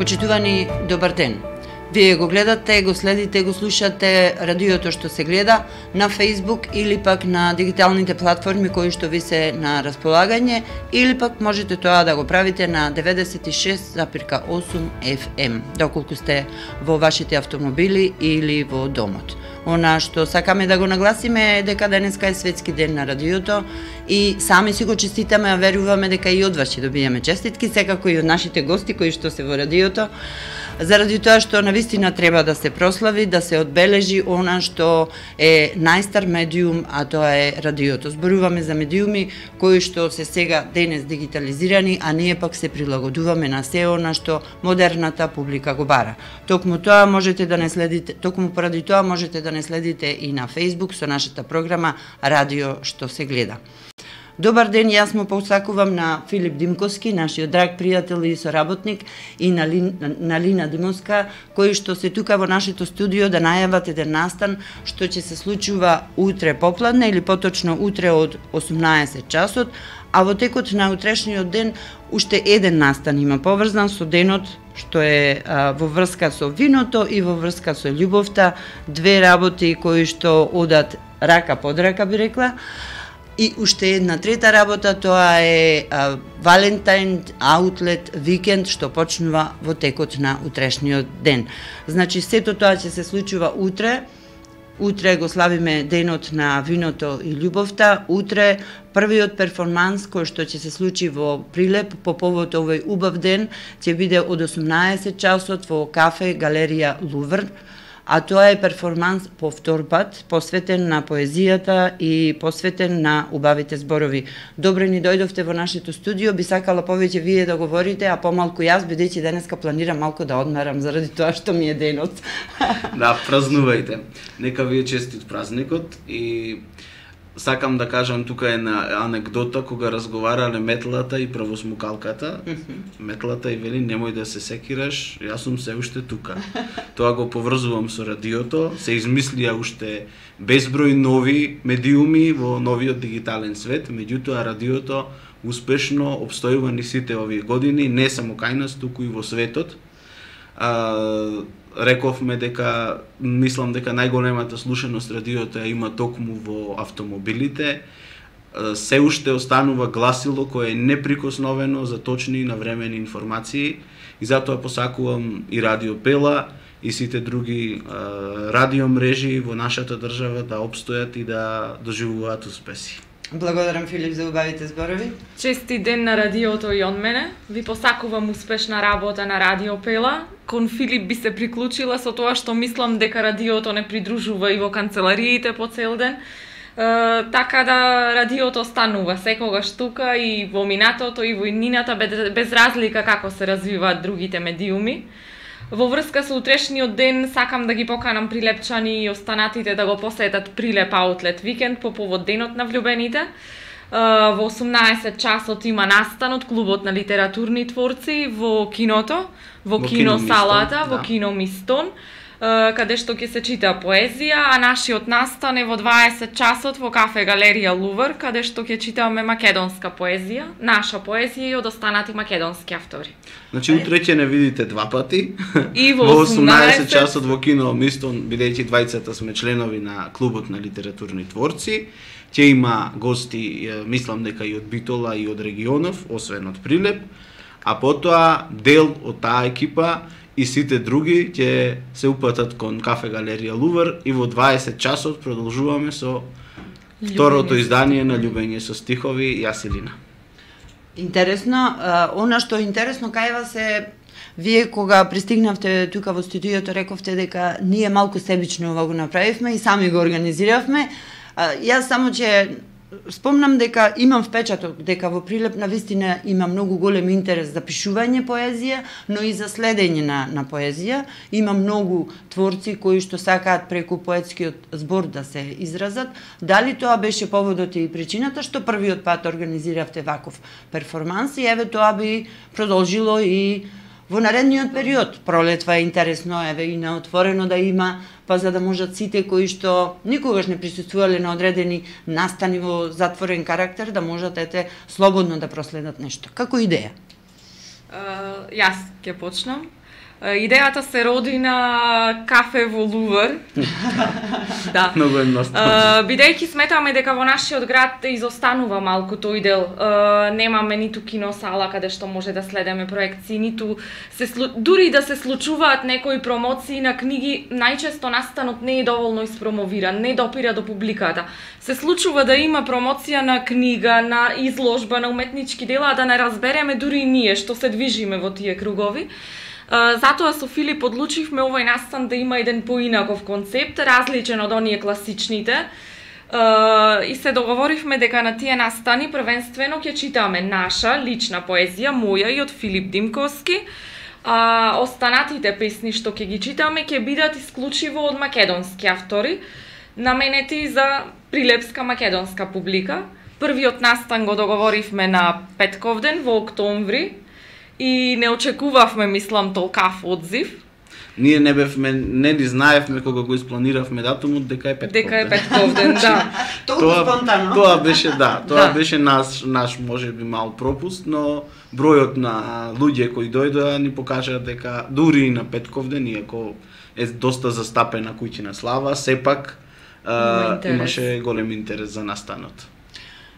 Почитувани, добар ден. Вие го гледате, го следите, го слушате радиото што се гледа на Facebook или пак на дигиталните платформи кои што ви се на располагање, или пак можете тоа да го правите на 96,8 FM, доколку сте во вашите автомобили или во домот. Она што сакаме да го нагласиме е дека денеска е светски ден на радиото и сами си го честитаме, а веруваме дека и од вас ќе добиеме честитки, секако и од нашите гости кои што се во радиото, заради тоа што навистина треба да се прослави, да се одбележи она што е најстар медиум, а тоа е радиото. Зборуваме за медиуми кои што се сега денес дигитализирани, а ние пак се прилагодуваме на се она што модерната публика го бара. Токму тоа можете да не следите, токму поради тоа можете да не следите и на Facebook со нашата програма Радио што се гледа. Добар ден, јас му посакувам на Филип Димковски, нашиот драг пријател и соработник, и на Лина Димовска, кои што се тука во нашето студио да најават еден настан што ќе се случува утре попладне или поточно утре од 18 часот, а во текот на утрешниот ден уште еден настан има поврзан со денот што е во врска со виното и во врска со љубовта, две работи кои што одат рака под рака, би рекла. И уште една трета работа, тоа е Валентайн аутлет викенд што почнува во текот на утрешниот ден. Значи сето тоа ќе се случува утре. Утре го славиме денот на виното и љубовта. Утре првиот перформанс кој што ќе се случи во Прилеп по повод овој убав ден ќе биде од 18 часот во кафе Галерија Лувр. А тоа е перформанс по втор пат, посветен на поезијата и посветен на убавите зборови. Добре ни дојдовте во нашето студио, би сакала повеќе вие да говорите, а помалку јас, бидејќи денеска планирам малку да одмарам заради тоа што ми е денот. Да, празнувајте. Нека ви е честит празникот и сакам да кажам тука една анекдота кога разговарале метлата и правосмукалката. Метлата и вели немој да се секираш, јас сум се уште тука. Тоа го поврзувам со радиото, се измислија уште безброј нови медиуми во новиот дигитален свет, меѓутоа радиото успешно обстојува ни сите овие години, не само кај нас, туку и во светот. Рековме дека, мислам дека најголемата слушаност радиото има токму во автомобилите. Се уште останува гласило кое е неприкосновено за точни и навремени информации и затоа посакувам и Радио Пела и сите други радиомрежи во нашата држава да опстојат и да доживуваат успеси. Благодарам, Филип, за убавите зборови. Чести ден на радиото и од мене. Ви посакувам успешна работа на Радио Пела. Кон Филип би се приклучила со тоа што мислам дека радиото не придружува и во канцелариите по цел ден. Така да радиото станува секогаш тука и во минатото и во иднината, без разлика како се развиваат другите медиуми. Во врска со утрешниот ден сакам да ги поканам прилепчани и останатите да го посетат Прилеп аутлет викенд по повод денот на влюбените. Во 18 часот има настан од клубот на литературни творци во киното, во кино салата, во кино Мистон, каде што ќе се чита поезија, а нашиот настан е во 20 часот во кафе Галерија Лувр, каде што ќе читаме македонска поезија, наша поезија и од останати македонски автори. Значи утре ќе не видите два пати. И во 18 часот во кино Мистон, бидејќи двајцата сме членови на клубот на литературни творци, ќе има гости, мислам дека и од Битола и од регионов, освен од Прилеп, а потоа дел од таа екипа и сите други ќе се упатат кон кафе Галерија Лувр и во 20 часот продолжуваме со второто издание на Љубење со стихови Јас и Лина. Интересно, она што е интересно кај вас е, вие кога пристигнавте тука во студиото рековте дека ние малку себично ова го направивме и сами го организиравме. Јас само ќе спомнам дека имам впечаток дека во Прилеп навистина има многу голем интерес за пишување поезија, но и за следење на поезија. Има многу творци кои што сакаат преку поетскиот збор да се изразат. Дали тоа беше поводот и причината што првиот пат организиравте ваков перформанс и еве тоа би продолжило и во наредниот период? Пролетва е интересно, еве и на отворено да има, па за да можат сите кои што никогаш не присуствувале на одредени настани во затворен карактер да можат слободно да проследат нешто. Како идеја? Јас ќе почнам. Идејата се роди на кафе во Лувр. Да. Многу едноставно. Бидејќи сметаме дека во нашиот град изостанува малку тој дел. Немаме ниту киносала каде што може да следиме проекции, ниту дури да се случуваат некои промоции на книги, најчесто настанот не е доволно испромовиран, не допира до публиката. Се случува да има промоција на книга, на изложба, на уметнички дела, да не разбереме дури и ние што се движиме во тие кругови. Затоа со Филип одлучивме овој настан да има еден поинаков концепт, различен од оние класичните. И се договоривме дека на тие настани првенствено ќе читаме наша лична поезија, моја и од Филип Димковски. Останатите песни што ќе ги читаме ќе бидат исклучиво од македонски автори, наменети за прилепска македонска публика. Првиот настан го договоривме на Петковден во октомври и не очекувавме, мислам, толкав одзив. Ние не ни знаевме кога го испланиравме датумот дека е Петковден. Дека е Петковден, да. Толку спонтано. Тоа беше, да, тоа беше наш можеби мал пропуст, но бројот на луѓе кои дојдоа ни покажа дека дури и на Петковден, иако е доста застапена куќина слава, сепак имаше голем интерес за настанот.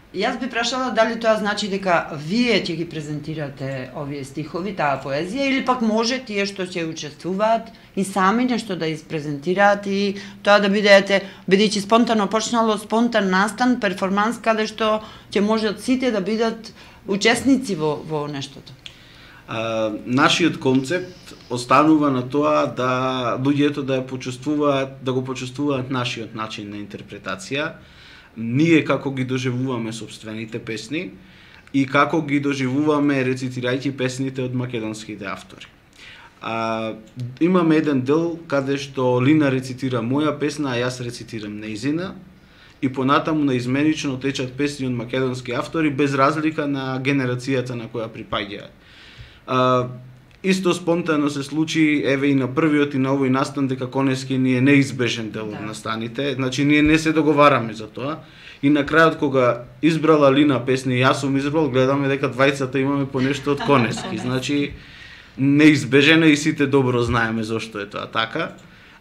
Јас би прашала дали тоа значи дека вие ќе ги презентирате овие стихови, таа поезија, или пак може тие што ќе учествуваат и сами нешто да испрезентираат и тоа да бидете, бидејќи спонтано почнало спонтан настан, перформанс каде што ќе можат сите да бидат учесници во нештото. Нашиот концепт останува на тоа да луѓето да го почувствуваат нашиот начин на интерпретација, ние како ги доживуваме собствените песни и како ги доживуваме рецитирајќи песните од македонските автори. Имаме еден дел каде што Лина рецитира моја песна, а јас рецитирам нејзина и понатаму наизменично течат песни од македонски автори без разлика на генерацијата на која припаѓаат. Исто спонтано се случи, еве и на првиот и на овој настан, дека конески ни е неизбежен дел од настаните, значи ние не се договараме за тоа. И на крајот кога избрала Лина песни, јас сум избрал, гледаме дека двајцата имаме по нешто од конески, значи неизбежено и сите добро знаеме зошто е тоа така.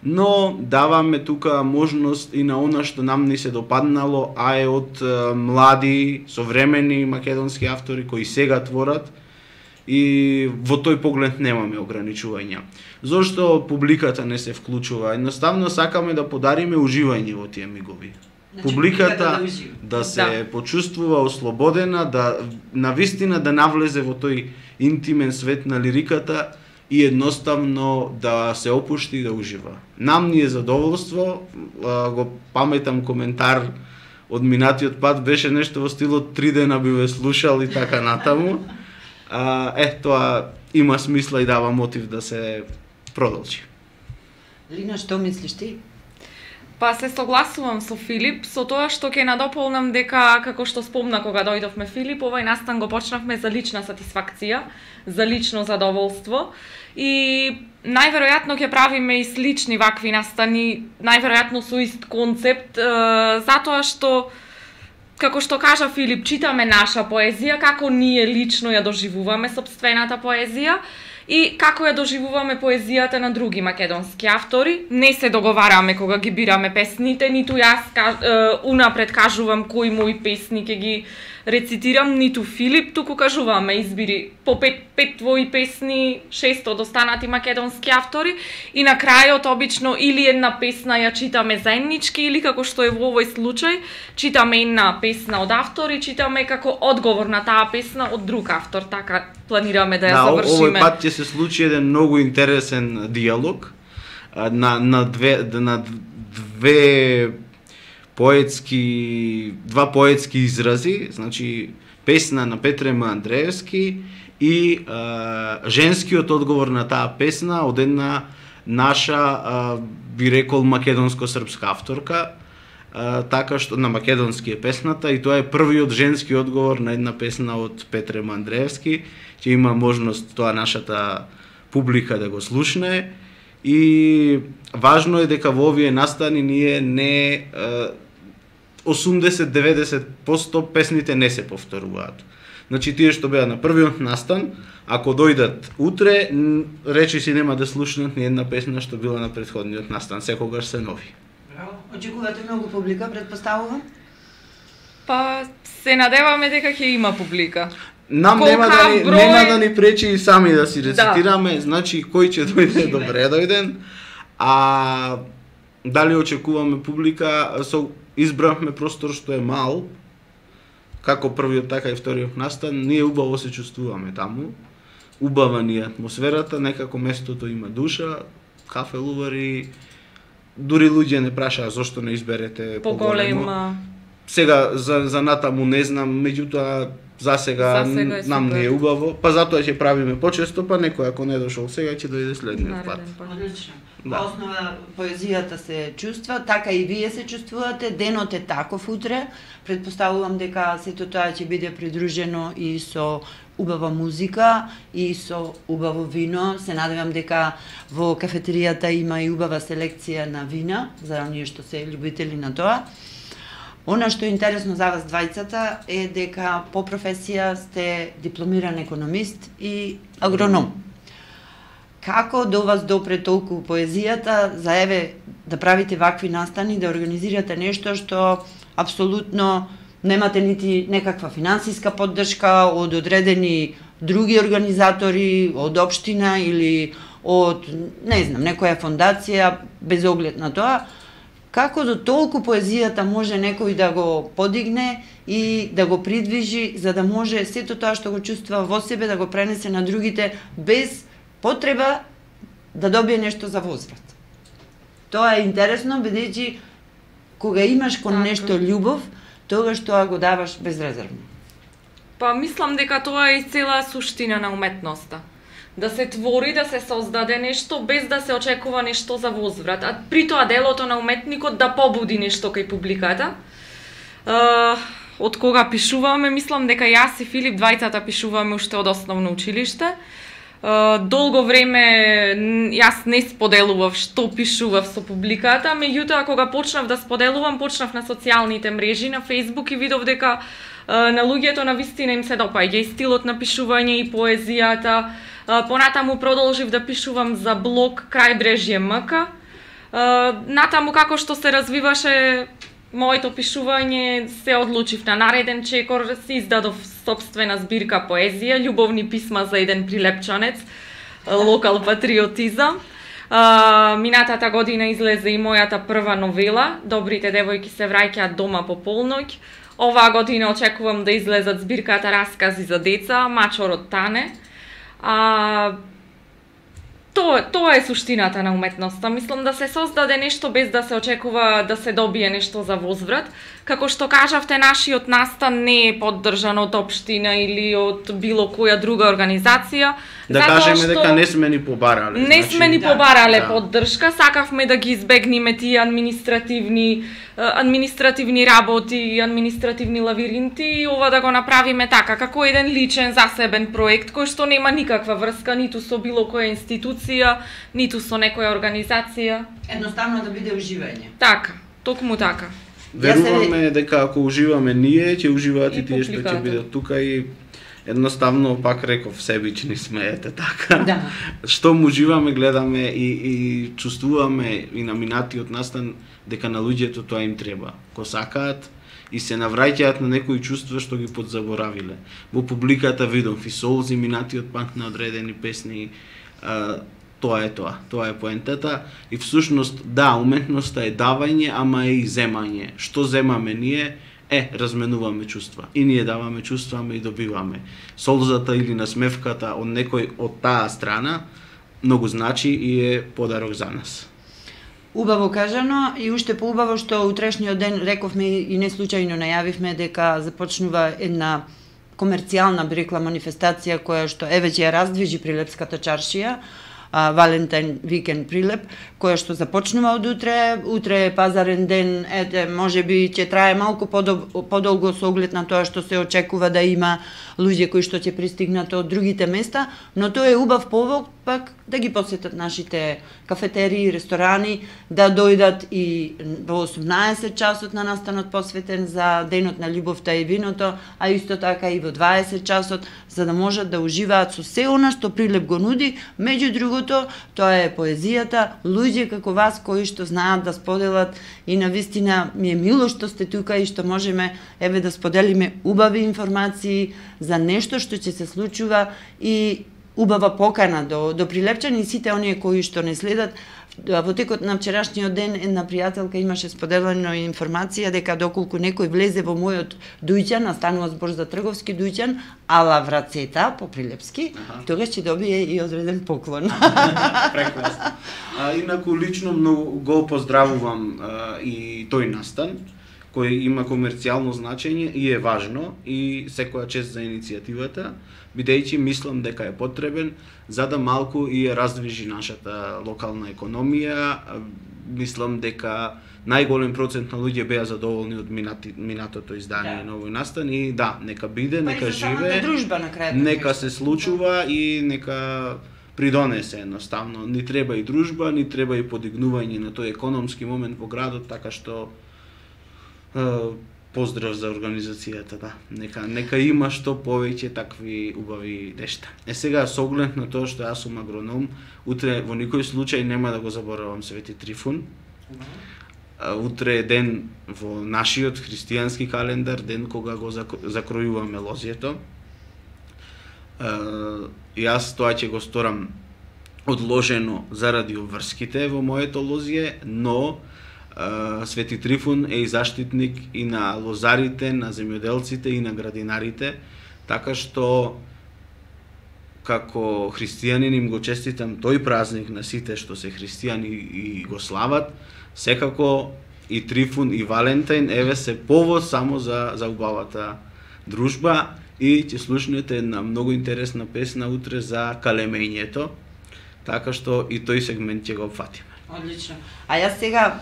Но даваме тука можност и на она што нам ни се допаднало, а е од млади, современи македонски автори кои сега творат, и во тој поглед немаме ограничувања. Зошто публиката не се вклучува? Едноставно сакаме да подариме уживање во тие мигови. Значи, публиката да се почувствува ослободена, да навистина да навлезе во тој интимен свет на лириката и едноставно да се опушти и да ужива. Нам ни е задоволство, го паметам коментар од минатиот пат, беше нешто во стилот 3 дена би ве слушал и така натаму. Тоа има смисла и дава мотив да се продолжи. Лина, што мислиш ти? Па се согласувам со Филип, со тоа што ќе надополнам дека, како што спомна кога дојдовме Филип, овој настан го почнавме за лична сатисфакција, за лично задоволство и најверојатно ќе правиме и слични вакви настани, најверојатно со ист концепт, затоа што како што кажа Филип, читаме наша поезија, како ние лично ја доживуваме собствената поезија и како ја доживуваме поезијата на други македонски автори. Не се договараме кога ги бираме песните, ниту јас унапред кажувам кои мои песни ќе ги рецитирам, ниту Филип, туку кажуваме избири по 5 твои песни, 6 од останати македонски автори и на крајот обично или една песна ја читаме заеднички или како што е во овој случај, читаме една песна од автор и читаме како одговор на таа песна од друг автор, така планираме да ја завршиме. Овој пат ќе се случи еден многу интересен диалог на два поетски изрази, значи песна на Петре М. Андреевски и женскиот одговор на таа песна од една наша, би рекол, македонско-српска авторка, така што на македонски е песната и тоа е првиот женски одговор на една песна од Петре М. Андреевски, ќе има можност тоа нашата публика да го слушне и важно е дека во овие настани ние не 80-90% песните не се повторуваат. Значи тие што беа на првиот настан, ако дојдат утре, речи си нема да слушнат ни една песна што била на претходниот настан, секогаш се нови. Браво. Очекувате многу публика, предпоставувам? Па се надеваме дека ќе има публика. Нам нема да ни пречи и сами да си рецитираме, значи кој ќе дојде добре дојден, а дали очекуваме публика, избравме простор што е мал, како првиот така и вториот настан, ние убаво се чувствуваме таму, убава ни атмосферата, некако местото има душа, кафелувари, дури луѓе не прашаа зошто не изберете поголемо. Сега за натаму не знам, меѓутоа за сега нам не е убаво, па затоа ќе правиме почесто, па некој ако не дошол сега ќе дојде следниот пат. Одлично. Да. Основа поезијата се чувства, така и вие се чувствувате, денот е таков утре, предпоставувам дека сето тоа ќе биде придружено и со убава музика и со убаво вино. Се надевам дека во кафетеријата има и убава селекција на вина, за оние што се љубители на тоа. Она што е интересно за вас двајцата е дека по професија сте дипломиран економист и агроном. Како до вас допре толку поезијата за еве да правите вакви настани, да организирате нешто што апсолутно немате нити некаква финансиска поддршка од одредени други организатори, од општина или од, не знам, некоја фондација, без оглед на тоа, како до толку поезијата може некој да го подигне и да го придвижи, за да може сето тоа што го чувствува во себе да го пренесе на другите без потреба да добие нешто за возврат. Тоа е интересно, бидејќи кога имаш кон нешто љубов, тогаш тоа го даваш безрезервно. Па мислам дека тоа е и цела суштина на уметноста. Да се твори, да се создаде нешто без да се очекува нешто за возврат, а при тоа делото на уметникот да побуди нешто кај публиката. Од кога пишуваме, мислам дека јас и Филип двајцата пишуваме уште од основно училиште. Долго време јас не споделував што пишував со публиката, меѓутоа кога почнав да споделувам, почнав на социјалните мрежи, на Facebook и видов дека на луѓето на вистина им се допаѓа и стилот на пишување и поезијата. Понатаму продолжив да пишувам за блог Крајбрежје МК. Натаму како што се развиваше моето пишување, се одлучив на нареден чекор, си издадов собствена збирка поезија, љубовни писма за еден прилепчанец, локал патриотизам. Минатата година излезе и мојата прва новела, Добрите девојки се враќаат дома по полноќ. Оваа година очекувам да излезат збирката Раскази за деца, Мачорот Тане. Тоа е суштината на уметноста. Мислам да се создаде нешто без да се очекува да се добие нешто за возврат. Како што кажавте, нашиот настан не е поддржан од општина или од било која друга организација. Да кажеме дека не сме ни побарале. Не сме ни побарале поддршка, сакавме да ги избегнеме тие административни работи, административни лавиринти и ова да го направиме така, како еден личен засебен проект кој што нема никаква врска ниту со било која институција, ниту со некоја организација. Едноставно да биде уживање. Така, токму така. Веруваме дека ако уживаме ние, ќе уживаат и тие што ќе бидат тука и едноставно, пак реков, себични сме, ете така. Да. Што уживаме, гледаме и чувствуваме и на минатиот настан дека на луѓето тоа им треба. Ко сакаат и се навраќаат на некои чувства што ги подзаборавиле. Во публиката видов и солзи, минатиот панк на одредени песни, тоа е поентата и всушност да, уметноста е давање, ама е и земање. Што земаме ние? Разменуваме чувства. И ние даваме чувства, ама и добиваме. Солзата или насмевката од некој од таа страна многу значи и е подарок за нас. Убаво кажано и уште поубаво што утрешниот ден рековме и не случајно најавивме дека започнува една комерцијална, би рекла, манифестација која што еве ќе ја раздвижи Прилепската чаршија. Валентин викенд Прилеп, која што започнува од утре е пазарен ден, можеби ќе трае малку подолго со оглед на тоа што се очекува да има луѓе кои што ќе пристигнат од другите места, но тоа е убав повод пак да ги посетат нашите кафетерии, ресторани, да дојдат и во 18 часот на настанот посветен за денот на љубовта и виното, а исто така и во 20 часот, за да можат да уживаат со се она што Прилеп го нуди. Меѓу другото, тоа е поезијата, луѓе како вас кои што знаат да споделат, и навистина ми е мило што сте тука и што можеме да споделиме убави информации за нешто што ќе се случува и убава покана до прилепчани и сите оние кои што не следат. Во текот на вчерашниот ден една пријателка имаше споделено информација дека доколку некој влезе во мојот дуќан, станува збор за трговски дуќан, ала врацета по прилепски, тогаш ќе добие и одреден поклон. Прекрасно. Инаку лично многу го поздравувам и тој настан, кој има комерцијално значење и е важно, и секоја чест за иницијативата, бидејќи мислам дека е потребен за да малку и раздвижи нашата локална економија. Мислам дека најголем процент на луѓе беа задоволни од минатото издание на овој настан и нека биде, нека живее, нека се случува и нека придонесе едноставно. Ни треба и дружба, ни треба и подигнување на тој економски момент во градот, така што поздрав за организацијата, Нека има што повеќе такви убави нешта. Сега со оглед на тоа што јас сум агроном, утре во никој случај нема да го заборавам Свети Трифун. Утре е ден во нашиот христијански календар, ден кога го закројуваме лозјето. Јас тоа ќе го сторам одложено заради обврските во моето лозје, но Свети Трифун е и заштитник и на лозарите, на земјоделците и на градинарите, така што како христијанин им го честитам тој празник на сите што се христијани и го слават. Секако и Трифун и Валентин се повод само за убавата дружба и ќе слушнете една многу интересна песна утре за калемењето, така што и тој сегмент ќе го опфатиме. Одлично. А јас сега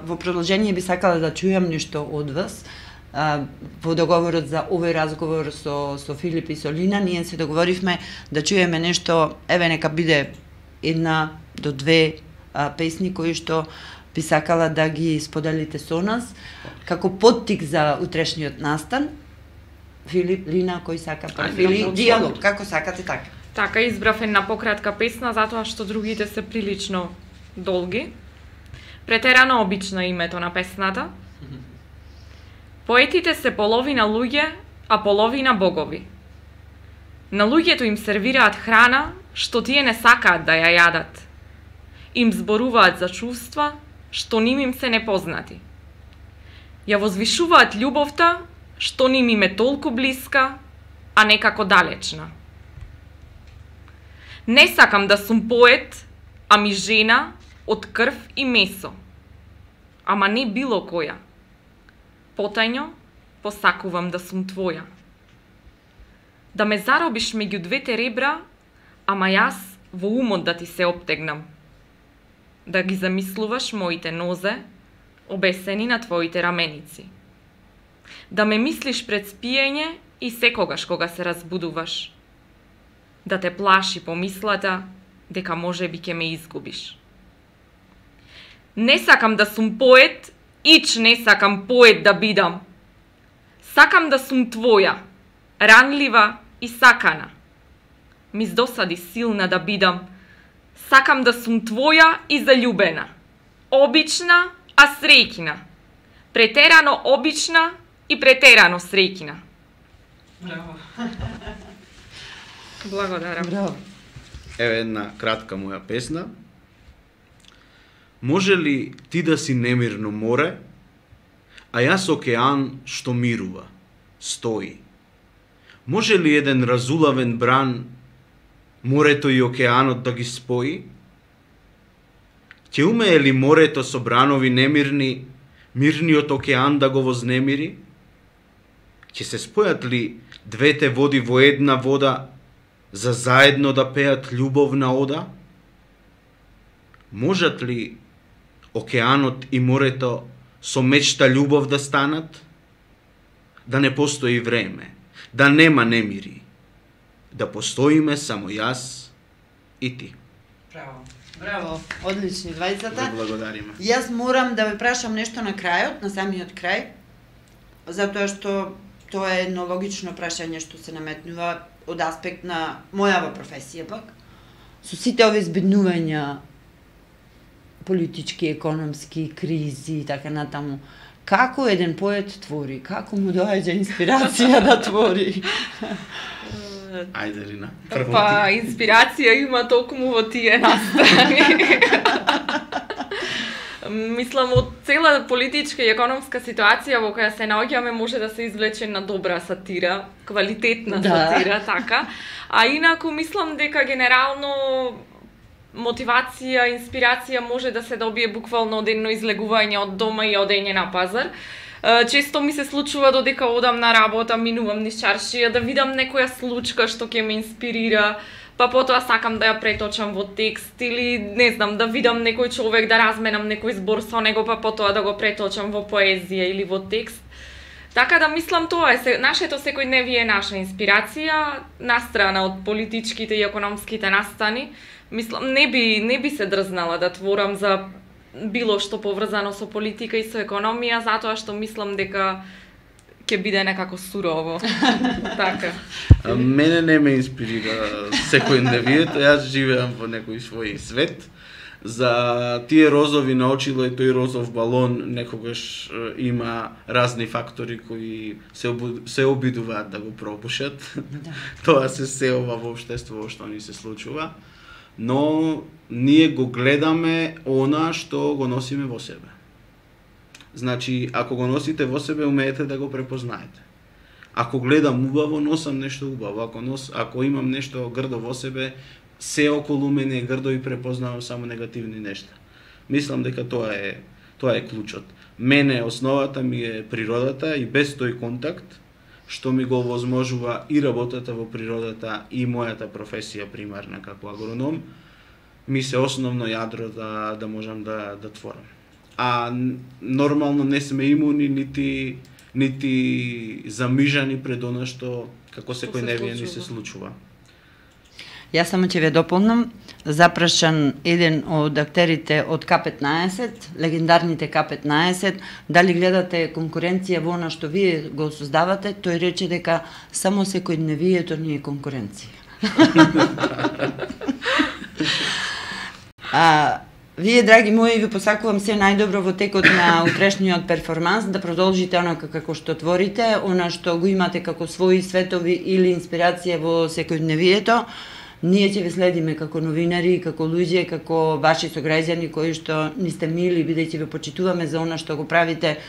во продолжение би сакала да чујам нешто од вас. Во договорот за овој разговор со Филип и со Лина, ние се договоривме да чуеме нешто, нека биде една до две песни кои што би сакала да ги споделите со нас, како поттик за утрешниот настан. Филип, Лина, кој сака прв? Диалог, како сакате така? Така, избрав една пократка песна, затоа што другите се прилично долги. Претерано обично името на песната. Поетите се половина луѓе, а половина богови. На луѓето им сервираат храна, што тие не сакаат да ја јадат. Им зборуваат за чувства, што ним им се непознати. Ја возвишуваат љубовта, што ним им е толку блиска, а некако далечна. Не сакам да сум поет, ами жена од крв и месо. Ама не било која. Потајно посакувам да сум твоја. Да ме заробиш меѓу двете ребра, ама јас во умот да ти се оптегнам. Да ги замислуваш моите нозе, обесени на твоите раменици. Да ме мислиш пред спиење и секогаш кога се разбудуваш. Да те плаши помислата дека можеби ќе ме изгубиш. Не сакам да сум поет, ич не сакам поет да бидам. Сакам да сум твоја, ранлива и сакана. Ми здосади силна да бидам. Сакам да сум твоја и заљубена. Обична, а среќна. Претерано обична и претерано среќна. Браво. Благодарам. Браво. Еве една кратка моја песна. Може ли ти да си немирно море, а јас океан што мирува, стои? Може ли еден разулавен бран морето и океанот да ги спои? Ќе умее ли морето со бранови немирни, мирниот океан да го вознемири? Ќе се спојат ли двете води во една вода за заедно да пеат љубовна ода? Можат ли океанот и морето со мечта љубов да станат? Да не постои време, да нема немири, да постоиме само јас и ти. Браво. Браво, одлични двајцата. Ви благодариме. Јас морам да ве прашам нешто на крајот, на самиот крај, затоа што тоа е едно логично прашање што се наметнува од аспект на мојава професија пак. Со сите овие збеднувања, политички, економски, кризи и така натаму, како еден поет твори? Како му доаѓа инспирација да твори? Ајде, Рина. Па, инспирација има токму во тие настрани. Мислам, од цела политичка и економска ситуација во која се наоѓаме може да се извлече на добра сатира, квалитетна сатира, така. А инаку мислам дека генерално мотивација, инспирација може да се добие буквално од едно излегување од дома и одење на пазар. Често ми се случува додека одам на работа, минувам низ чаршија, да видам некоја случка што ќе ме инспирира, па потоа сакам да ја преточам во текст или не знам, да видам некој човек, да разменам некој збор со него, па потоа да го преточам во поезија или во текст. Така да мислам тоа е, нашето секојдневие е наша инспирација, настрана од политичките и економските настани. Мислам, не би се дрзнала да творам за било што поврзано со политика и со економија, затоа што мислам дека ќе биде некако сурово. Така. Мене не ме инспирира секојдневието, јас живеам во некој свој свет. За тие розови на очило и тој розов балон некогаш има разни фактори кои се обидуваат да го пропушат. Тоа се сеова во општеството што ни се случува. Но ние го гледаме она што го носиме во себе. Значи, ако го носите во себе, умеете да го препознаете. Ако гледам убаво, носам нешто убаво. Ако имам нешто грдо во себе, се околу мене е грдо и препознавам само негативни нешта. Мислам дека тоа е клучот. Мене основата ми е природата и без тој контакт, што ми го овозможува и работата во природата и мојата професија примарна како агроном, ми се основно јадро да можам да творам. А нормално не сме имуни нити замижани пред она што како секојдневие ни се случува. Јас само ќе ве дополнам, запрашан еден од актерите од К15, легендарните К15, дали гледате конкуренција во она што вие го создавате, тој рече дека само секојдневието ни е конкуренција. Вие, драги мои, ви посакувам се најдобро во текот на утрешниот перформанс, да продолжите онака како што творите, она што го имате како своји светови или инспирација во секојдневието. Ние ќе ве следиме како новинари, како луѓе, како ваши сограѓани кои што ни сте мили, бидејќи ве почитуваме за она што го правите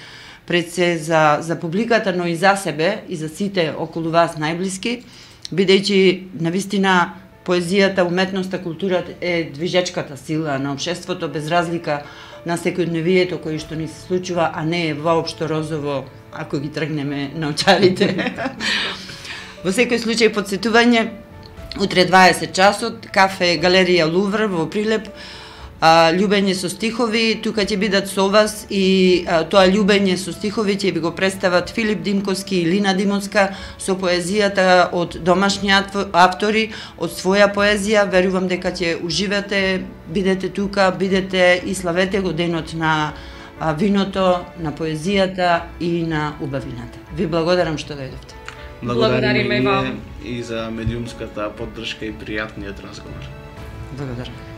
пред се за публиката, но и за себе и за сите околу вас најблиски, бидејќи навистина поезијата, уметноста, културата е движечката сила на општеството без разлика на секојдневието кој што ни се случува, а не е воопшто розово ако ги тргнеме на очарите. Во секој случај подсетување, утре 20 часот, кафе Галерија Лувр во Прилеп, љубење со стихови, тука ќе бидат со вас и тоа љубење со стихови ќе ви го представат Филип Димковски и Лина Димовска со поезијата од домашни автори, од своја поезија. Верувам дека ќе уживате, бидете тука, бидете и славете го денот на виното, на поезијата и на убавината. Ви благодарам што дојдовте. Благодариме и за медиумската поддршка и пријатниот разговор. Благодарам.